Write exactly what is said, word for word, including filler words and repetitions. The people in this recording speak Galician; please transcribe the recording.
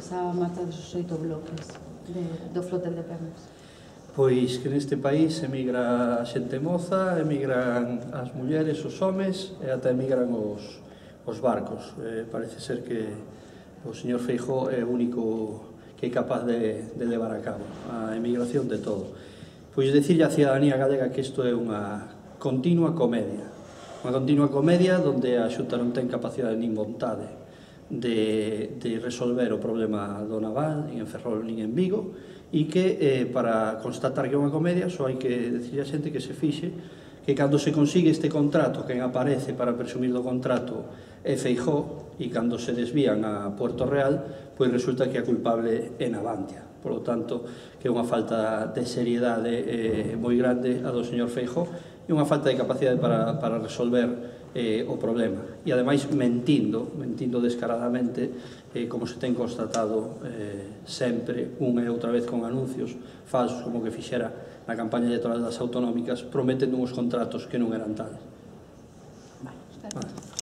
esa marcha dos oito bloques do flotel de Pemex? Pois que neste país emigra a xente moza, emigran as mulleres, os homes e ata emigran os, os barcos. Eh, parece ser que o señor Feijóo é o único que é capaz de, de levar a cabo a emigración de todo. Pois dicirlle á cidadanía galega que isto é unha continua comedia. Unha continua comedia onde a Xunta non ten capacidade nin vontade de, de resolver o problema do naval, nin en Ferrol, nin en Vigo, e que eh, para constatar que é unha comedia só hai que decirle a xente que se fixe que cando se consigue este contrato, quen aparece para presumir do contrato é Feijóo, e cando se desvían a Puerto Real, pois resulta que a culpable é Navantia. Por lo tanto, que é unha falta de seriedade eh, moi grande a do señor Feijóo e unha falta de capacidade para, para resolver eh, o problema. E, ademais, mentindo, mentindo descaradamente, eh, como se ten constatado eh, sempre, unha e outra vez con anuncios falsos, como que fixera na campaña electoral das autonómicas, prometendo uns contratos que non eran tales. Vale,